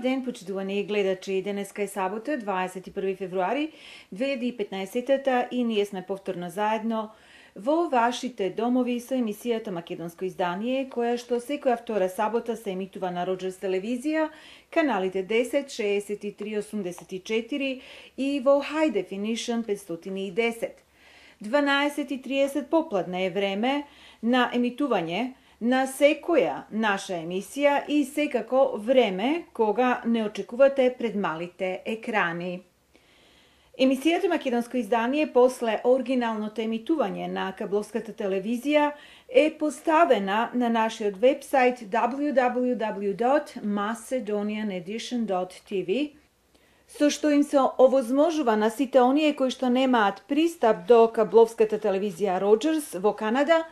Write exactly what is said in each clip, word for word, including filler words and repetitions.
ден, почитувани гледачи. Денеска е сабота, дваесет и први февруари две илјади и петнаесетта и ние сме повторно заедно во вашите домови со емисијата Македонско издание, која што секоја втора сабота се емитува на Роџерс телевизија, каналите десет, шеесет и три, осумдесет и четири и во High Definition петстотини и десет. дванаесет и триесет попладне е време на емитување на секоја наша емисија и секако време кога не очекувате пред малите екрани. Емисијата Македонско издание после оригиналното емитување на кабловската телевизија е поставена на нашиот вебсайт дабљу дабљу дабљу dot macedonian edition dot t v, со што им се овозможува на сите оние кои што немаат пристап до кабловската телевизија Роџерс во Канада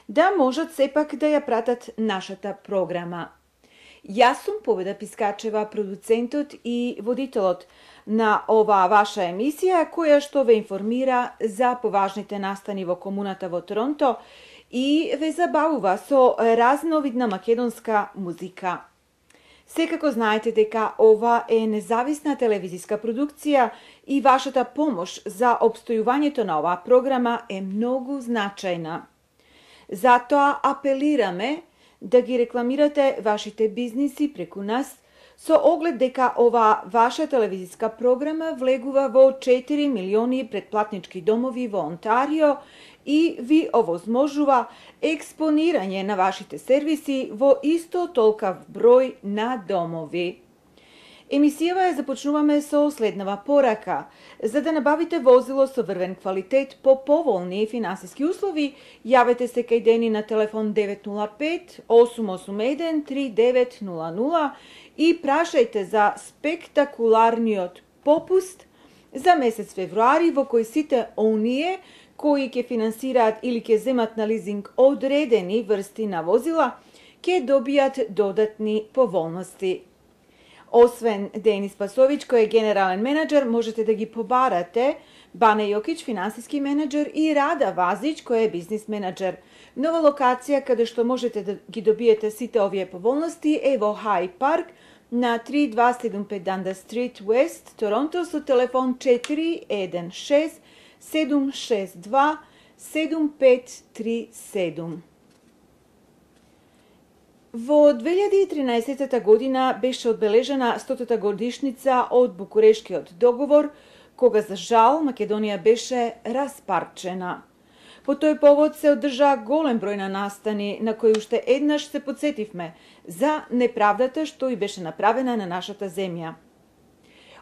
да можат сепак да ја пратат нашата програма. Јас сум Победа Пискачева, продуцентот и водителот на оваа ваша емисија, која што ве информира за поважните настани во комуната во Торонто и ве забавува со разновидна македонска музика. Секако знаете дека ова е независна телевизиска продукција и вашата помош за опстојувањето на оваа програма е многу значајна. Затоа апелираме да ги рекламирате вашите бизниси преку нас, со оглед дека оваа ваша телевизиска програма влегува во четири милиони претплатнички домови во Онтарио и ви овозможува експонирање на вашите сервиси во исто толкав број на домови. Емисијава ја започнуваме со следнава порака. За да набавите возило со врвен квалитет по поволни финансиски услови, јавете се кај Дени на телефон девет нула пет осум осум еден три девет нула нула и прашајте за спектакуларниот попуст за месец февруари, во кој сите оние кои ќе финансираат или ќе земат на лизинг одредени врсти на возила, ќе добијат додатни поволности. Освен Денис Пасовиќ, кој е генерален менеджер, можете да ги побарате Бане Јокиć, финансиски менеджер, и Рада Вазиć, кој е бизнис менеджер. Нова локација каде што можете да ги добиете сите овие поволности е во Хай Парк на три дваесет седум пет Dundas Street West, Торонто, со телефон четири еден шест седум шест два седум пет три седум. Во две илјади и тринаесетта година беше одбележена стотата годишница од Букурешкиот договор, кога за жал Македонија беше распарчена. По тој повод се одржа голем број на настани на кои уште еднаш се потсетивме за неправдата што и беше направена на нашата земја.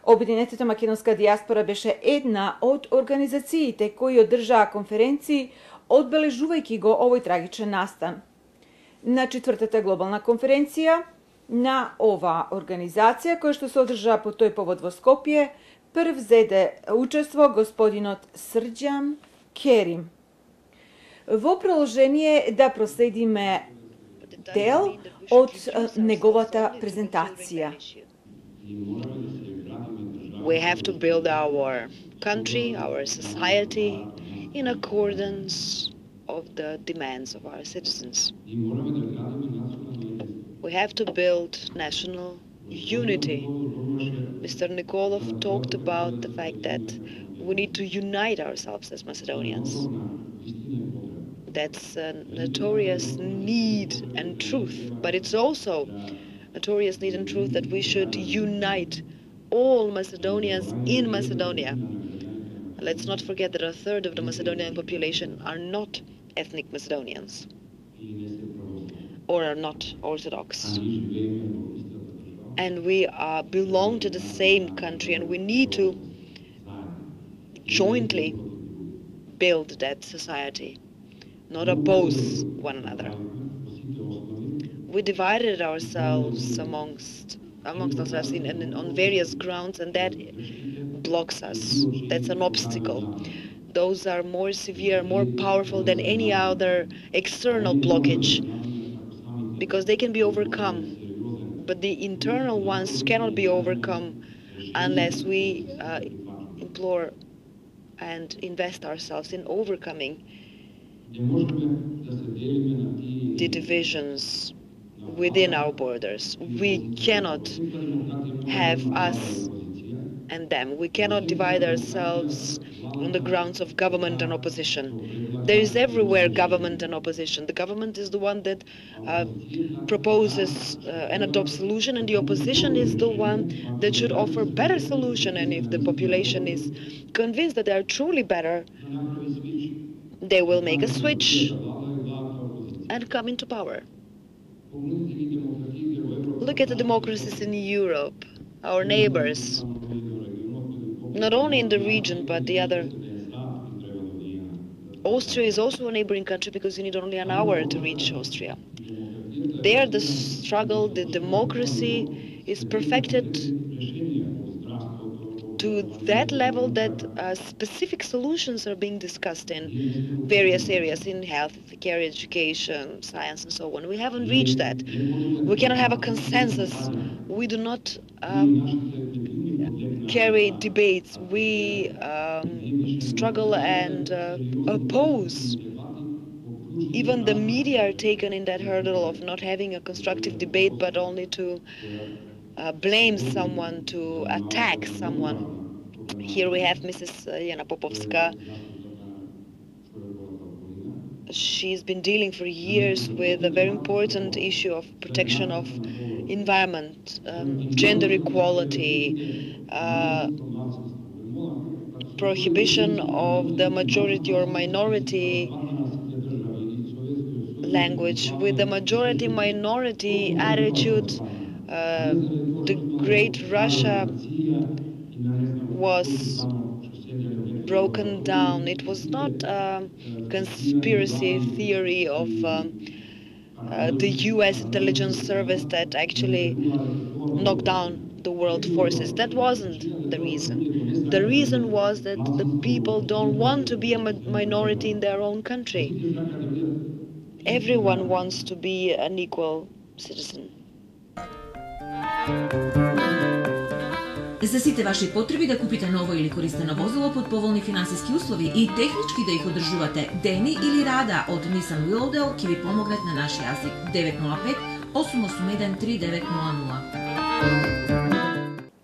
Обединетата македонска дијаспора беше една од организациите кои одржаа конференции одбележувајќи го овој трагичен настан. На четвртата глобална конференција на оваа организација, која што се одржа по тој повод во Скопје, прв зеде учество господинот Срđan Kerim. Во продолжение да проследиме дел од неговата презентација. We have to build our country, our society in accordance of the demands of our citizens. We have to build national unity. Mister Nikolov talked about the fact that we need to unite ourselves as Macedonians. That's a notorious need and truth, but it's also notorious need and truth that we should unite all Macedonians in Macedonia. Let's not forget that a third of the Macedonian population are not ethnic Macedonians or are not Orthodox. And we uh, belong to the same country, and we need to jointly build that society, not oppose one another. We divided ourselves amongst amongst ourselves in, in, on various grounds, and that blocks us. That's an obstacle. Those are more severe, more powerful than any other external blockage, because they can be overcome. But the internal ones cannot be overcome unless we uh, implore and invest ourselves in overcoming the divisions within our borders. We cannot have us and them. We cannot divide ourselves on the grounds of government and opposition. There is everywhere government and opposition. The government is the one that uh, proposes uh, and adopts solution, and the opposition is the one that should offer better solution. And if the population is convinced that they are truly better, they will make a switch and come into power. Look at the democracies in Europe, our neighbors, not only in the region, but the other. Austria is also a neighboring country because you need only an hour to reach Austria. There the struggle, the democracy is perfected to that level that uh, specific solutions are being discussed in various areas, in health care, education, science, and so on. We haven't reached that. We cannot have a consensus. We do not um, carry debates. We um, struggle and uh, oppose. Even the media are taken in that hurdle of not having a constructive debate, but only to uh, blame someone, to attack someone. Here we have Missus Jana Popovska. She's been dealing for years with a very important issue of protection of environment, um, gender equality, uh, prohibition of the majority or minority language. With the majority-minority attitude, uh, the great Russia was broken down. It was not a conspiracy theory of um, uh, the U S intelligence service that actually knocked down the world forces. That wasn't the reason. The reason was that the people don't want to be a minority in their own country. Everyone wants to be an equal citizen. За сите ваши потреби да купите ново или користено возило под поволни финансиски услови и технички да их одржувате дени или рада од Nissan Willowdale ќе ви помогнат на нашиот јазик девет нула пет осум осум еден три девет нула нула.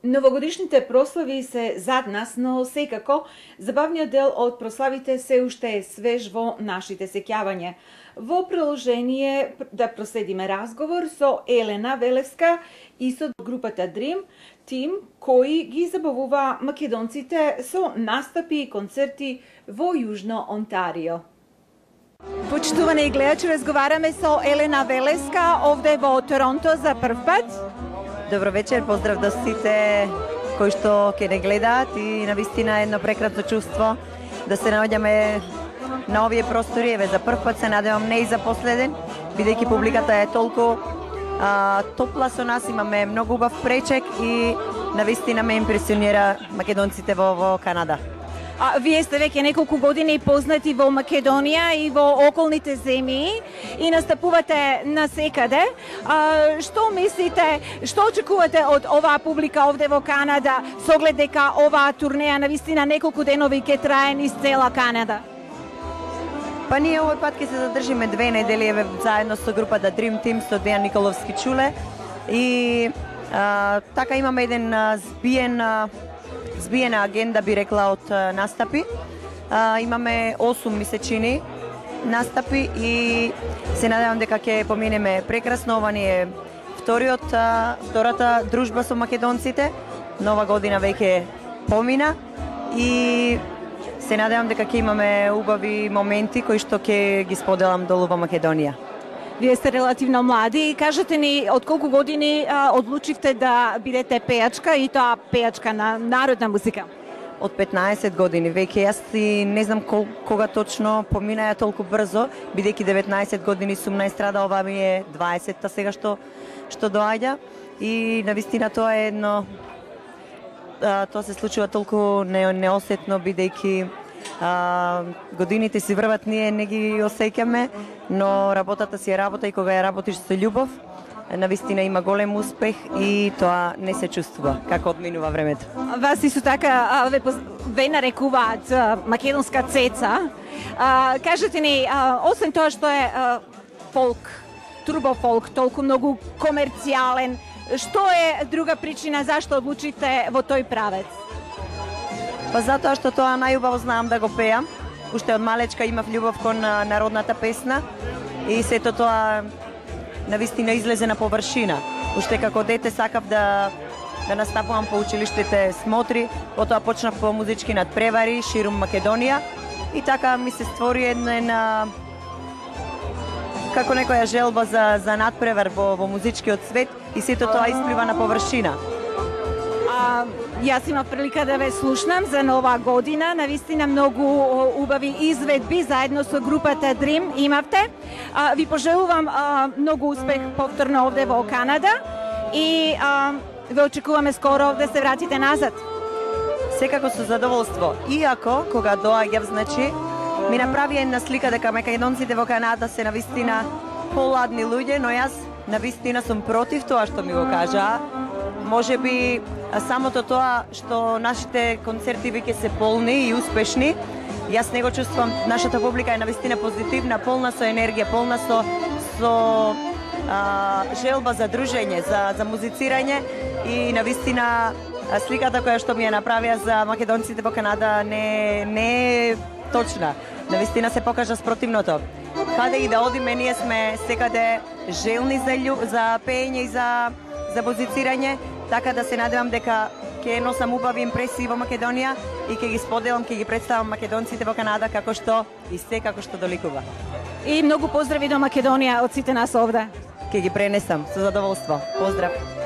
Новогодишните прослави се зад нас, но секако забавниот дел од прославите се уште е свеж во нашите сеќавања. Во продолжение да проследиме разговор со Елена Велевска и со групата Dream Team, кои ги забавува македонците со настапи и концерти во Јужно Онтарио. Почитувани гледачи, разговараме со Елена Велевска овде во Торонто за прв пат. Добро вечер, поздрав до сите кои што ќе не гледаат и навистина едно прекрасно чувство да се наоѓаме на овие простори. Еве за прв пат се надевам не и за последен, бидејќи публиката е толку а, топла со нас, имаме многу убав пречек и навистина ме импресионира македонците во, во Канада. А, вие сте веќе неколку години познати во Македонија и во околните земји и настапувате насекаде. А, што мислите, што очекувате од оваа публика овде во Канада, со оглед дека оваа турнеја навистина неколку денови ќе трае низ цела Канада? Па ние овој пат ќе се задржиме две недели еве заедно со групата Dream Team со Дејан Николовски Чуле и а, така имаме еден а, збиен а, збиена агенда, би рекла, од а, настапи. А, имаме осум месечини настапи и се надевам дека ќе поминеме прекрасно. Ова ни е вториот а, втората дружба со македонците. Нова година веќе помина и се надевам дека ќе имаме убави моменти кои што ќе ги споделам долу во Македонија. Вие сте релативно млади. Кажете ни, од колку години а, одлучивте да бидете пејачка и тоа пејачка на народна музика? Од петнаесет години веќе. Јас и не знам кол, кога точно поминаја толку брзо, бидејќи деветнаесет години сум најстрада, ова ми е дваесетта сега што што доаѓа и навистина тоа е едно а, тоа се случува толку не, неосетно, бидејќи а, годините си врват, ние не ги осеќаме, но работата си е работа и кога ја работиш со љубов, навистина има голем успех и тоа не се чувствува како одминува времето. Вас исто така ве, ве нарекуваат македонска цеца. А, кажете ни, а, освен тоа што е а, фолк турбофолк, толку многу комерцијален? Што е друга причина зашто одлучите во тој правец? Па затоа што тоа најубаво знам да го пеам. Уште од малечка имав љубов кон народната песна и сето тоа навистина излезе на површина. Уште како дете сакав да да настапувам по училиштите смотри, потоа почнав по музички надпревари ширум Македонија и така ми се створи една како некоја желба за за надпревар во во музичкиот свет и сето тоа исплива на површина. А, јас имав прилика да ве слушнам за нова година, навистина многу убави изведби заедно со групата Dream имавте. А, ви пожелувам а, многу успех повторно овде во Канада и а, ве очекуваме скоро да се вратите назад. Секако со задоволство. Иако кога доаѓав, значи, ми направи една слика дека македонците во Канада се навистина поладни луѓе, но јас навистина сум против тоа што ми го кажаа. Може би самото тоа што нашите концерти веќе се полни и успешни, јас не го чувствувам. Нашата публика е навистина позитивна, полна со енергија, полна со со а, желба за дружење, за за музицирање и навистина сликата која што ми ја направија за македонците во Канада не не е точна. Навистина се покажа спротивното. Каде и да одиме, ние сме секаде желни за љуб, за пеење и за за музицирање, така да се надевам дека ќе носам убави импресии во Македонија и ќе ги споделам, ќе ги представам македонците во Канада како што и се како што доликува. И многу поздрави до Македонија од сите нас овде. Ќе ги пренесам со задоволство. Поздрав.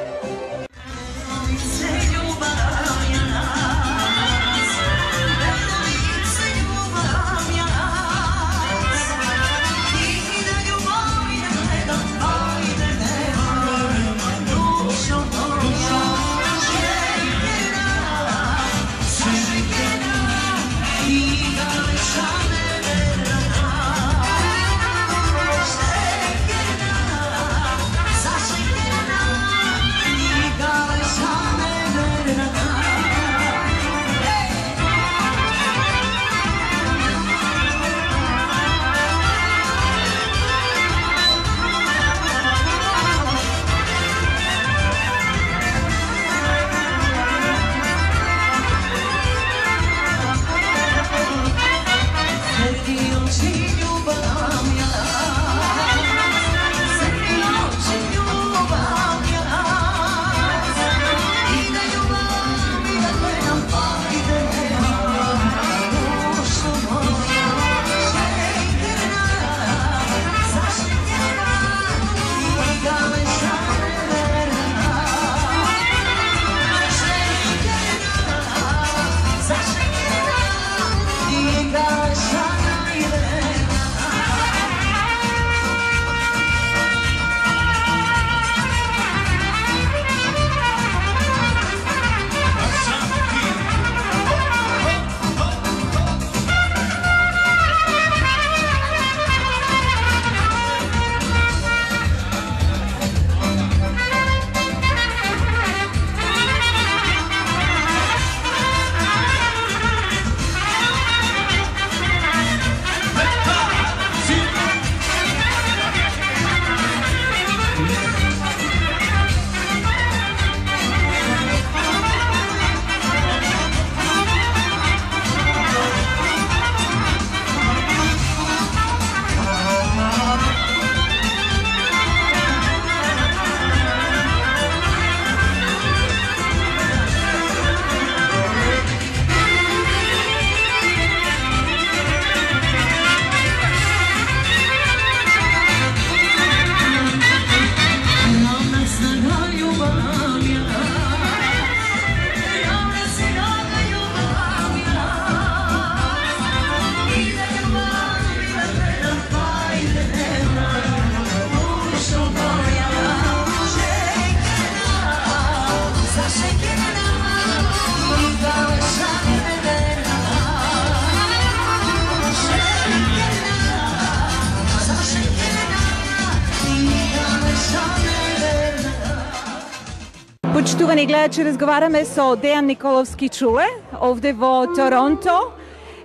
Почитувани гледачи, разговараме со Дејан Николовски Чуле овде во Торонто,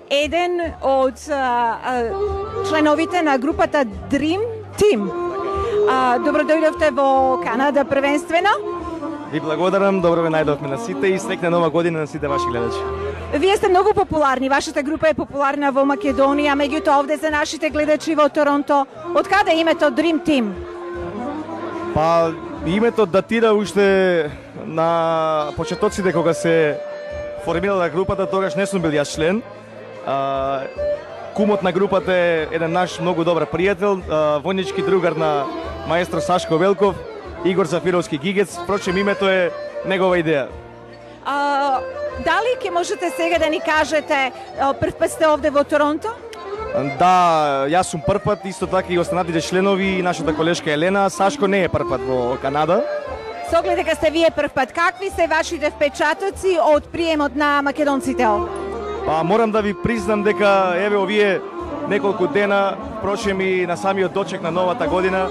еден од а, а, членовите на групата Dream Team. А, добро дојдовте во Канада првенствено. Ви благодарам, добро ве најдовме на сите и среќна нова година на сите ваши гледачи. Вие сте многу популарни, вашата група е популарна во Македонија, меѓутоа овде за нашите гледачи во Торонто. Од каде името Dream Team? Па, името датира уште на почетоците кога се формирала групата, тогаш не сум бил јас член. А, кумот на групата е еден наш многу добар пријател, а, војнички другар на маестро Сашко Велков, Игор Зафировски Гигец, впрочем името е негова идеја. А, дали ќе можете сега да ни кажете, прв пат сте овде во Торонто? Да, јас сум прв пат, исто така и останатите членови и нашата колешка Елена. Сашко не е прв пат во Канада. Со оглед дека сте вие прв пат, какви се вашите впечатоци од приемот на македонците овде? Па морам да ви признам дека еве овие неколку дена, впрочем и на самиот дочек на новата година,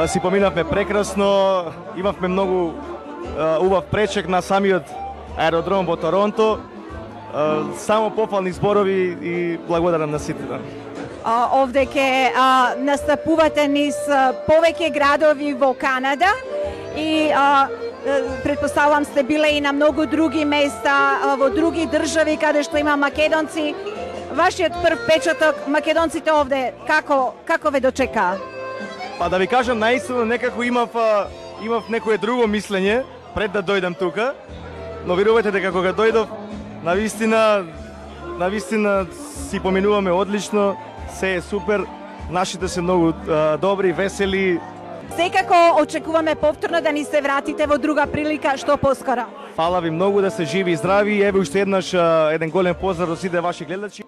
си поминавме прекрасно, имавме многу убав пречек на самиот аеродром во Торонто. Само пофални зборови и благодарам на сите. А, овде ќе а, настапувате низ а, повеќе градови во Канада и а, предпоставувам сте биле и на многу други места, а, во други држави каде што има македонци. Вашиот прв печаток, македонците овде, како, како ве дочекаа? Па да ви кажам, наистина некако имав, имав некое друго мислење пред да дојдам тука, но верувате дека кога дојдов, навистина, навистина си поминуваме одлично, се е супер, нашите се многу а, добри, весели. Секако очекуваме повторно да ни се вратите во друга прилика, што поскоро. Фала ви многу, да се живи и здрави, еве уште еднаш а, еден голем поздрав до сите ваши гледачи.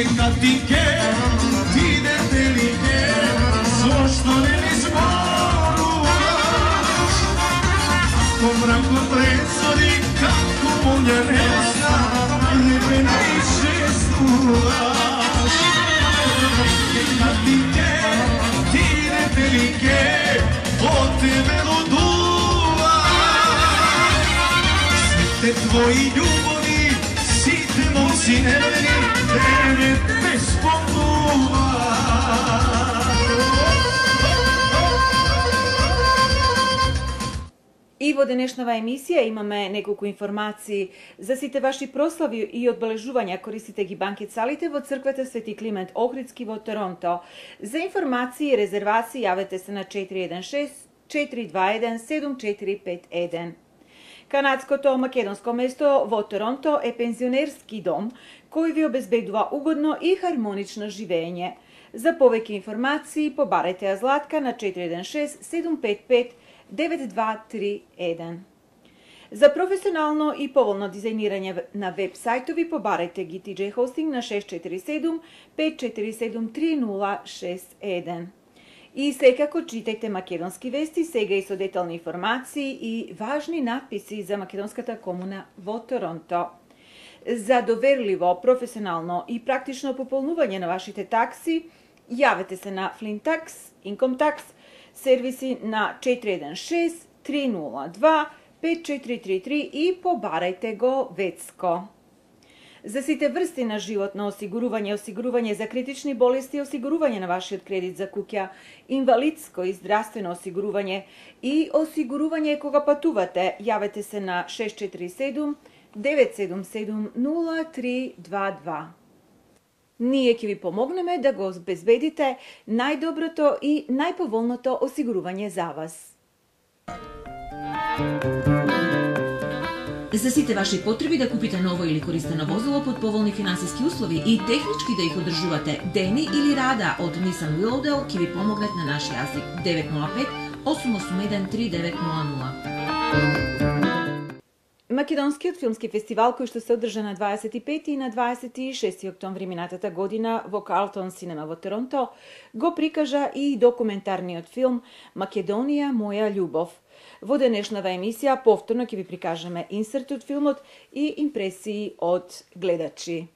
Neka ti ke, ti debelike, zašto ne izmoruvaš? Ako mrako presodi, kako munja nesna, nebe najviše skuvaš. Neka ti ke, ti debelike, od tebe oduvaš. Sve te tvoji ljubovi, site moci neveni, tebe bez И во денешнава емисија имаме неколку информации за сите ваши прослави и одбележувања. Користите ги банкет салите во црквата Свети Климент Охридски во Торонто. За информации и резервации јавете се на четири еден шест четири два еден седум четири пет еден. Канадското македонско место во Торонто е пензионерски дом кој ви обезбедува угодно и хармонично живење. За повеќе информации побарете ја Златка на четири еден шест седум пет пет девет два три еден. За професионално и поволно дизајнирање на веб сајтови побарете ги Ти Џеј Hosting на шест четири седум пет четири седум три нула шест еден. И секако читајте македонски вести сега и со детални информации и важни надписи за македонската комуна во Торонто. За доверливо, професионално и практично пополнување на вашите такси, јавете се на Flint Tax, Income Tax, сервиси на четири еден шест три нула два пет четири три три и побарајте го Вецко. За сите врсти на животно осигурување, осигурување за критични болести, осигурување на вашиот кредит за куќа, инвалидско и здравствено осигурување и осигурување кога патувате, јавете се на шест четири седум девет седум седум нула три два два. Ние ќе ви помогнеме да го обезбедите најдоброто и најповолното осигурување за вас. За сите ваши потреби да купите ново или користено возило под поволни финансиски услови и технички да их одржувате, Дени или Рада од Nissan Willowdale ќе ви помогнат на наш јазик девет нула пет осум осум еден три девет нула нула. Македонскиот филмски фестивал, кој што се одржа на дваесет и пети и на дваесет и шести октомври минатата година во Карлтон Синема во Торонто, го прикажа и документарниот филм Македонија, моја љубов. Во денешнава емисија повторно ќе ви прикажеме инсерт од филмот и импресии од гледачи.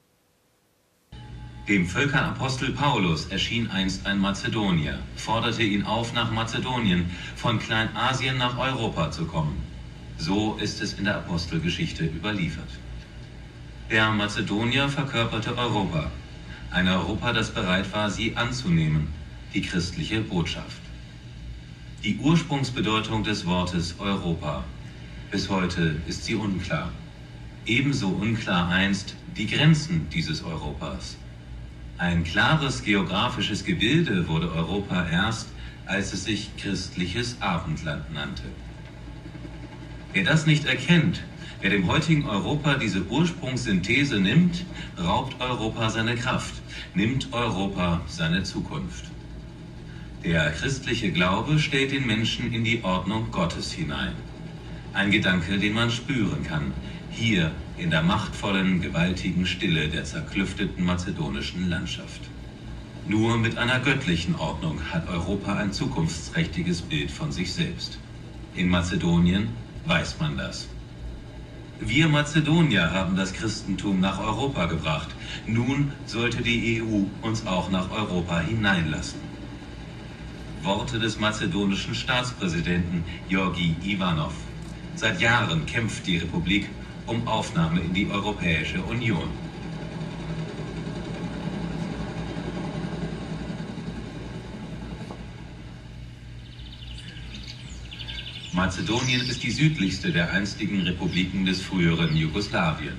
Dem Völkerapostel Paulus erschien einst ein Mazedonier, forderte ihn auf, nach Mazedonien, von Kleinasien nach Europa zu kommen. So ist es in der Apostelgeschichte überliefert. Der Mazedonier verkörperte Europa, ein Europa, das bereit war, sie anzunehmen, die christliche Botschaft. Die Ursprungsbedeutung des Wortes Europa. Bis heute ist sie unklar. Ebenso unklar einst die Grenzen dieses Europas. Ein klares geografisches Gebilde wurde Europa erst, als es sich christliches Abendland nannte. Wer das nicht erkennt, wer dem heutigen Europa diese Ursprungssynthese nimmt, raubt Europa seine Kraft, nimmt Europa seine Zukunft. Der christliche Glaube stellt den Menschen in die Ordnung Gottes hinein. Ein Gedanke, den man spüren kann, hier in der machtvollen, gewaltigen Stille der zerklüfteten mazedonischen Landschaft. Nur mit einer göttlichen Ordnung hat Europa ein zukunftsträchtiges Bild von sich selbst. In Mazedonien weiß man das. Wir Mazedonier haben das Christentum nach Europa gebracht. Nun sollte die E U uns auch nach Europa hineinlassen. Worte des mazedonischen Staatspräsidenten Georgi Ivanov. Seit Jahren kämpft die Republik um Aufnahme in die Europäische Union. Mazedonien ist die südlichste der einstigen Republiken des früheren Jugoslawien.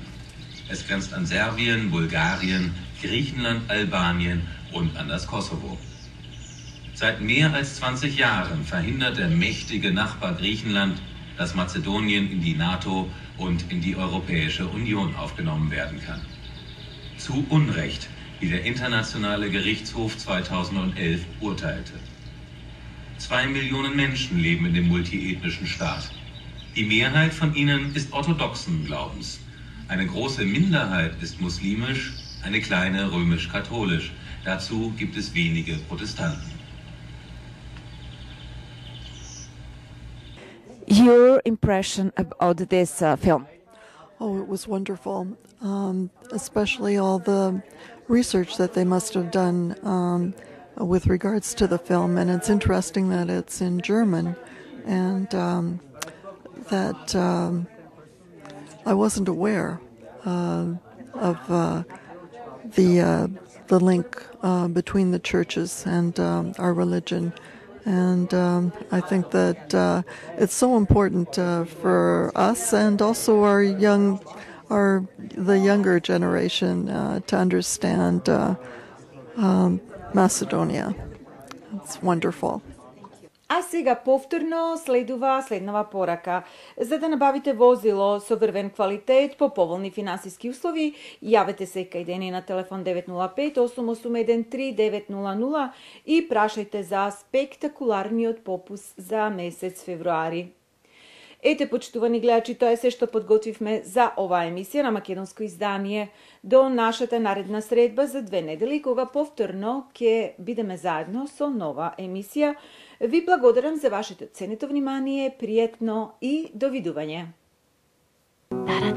Es grenzt an Serbien, Bulgarien, Griechenland, Albanien und an das Kosovo. Seit mehr als zwanzig Jahren verhindert der mächtige Nachbar Griechenland, dass Mazedonien in die NATO und in die Europäische Union aufgenommen werden kann. Zu Unrecht, wie der Internationale Gerichtshof zweitausendelf urteilte. Zwei Millionen Menschen leben in dem multiethnischen Staat. Die Mehrheit von ihnen ist orthodoxen Glaubens. Eine große Minderheit ist muslimisch, eine kleine römisch-katholisch. Dazu gibt es wenige Protestanten. Your impression about this uh, film? Oh, it was wonderful, um, especially all the research that they must have done um, with regards to the film. And it's interesting that it's in German, and um, that um, I wasn't aware uh, of uh, the uh, the link uh, between the churches and um, our religion. And um, I think that uh, it's so important uh, for us and also our young, our the younger generation uh, to understand uh, um, Macedonia. It's wonderful. А сега повторно следува следнава порака. За да набавите возило со врвен квалитет по поволни финансиски услови, јавете се кај Дени на телефон девет нула пет осум осум еден три девет нула нула и прашајте за спектакуларниот попус за месец февруари. Ете, почитувани гледачи, тоа е се што подготвивме за оваа емисија на македонско издание. До нашата наредна средба за две недели, кога повторно ќе бидеме заедно со нова емисија. Ви благодарам за вашето ценето внимание, пријатно и довидување. Da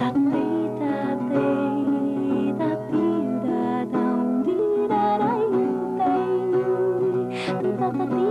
da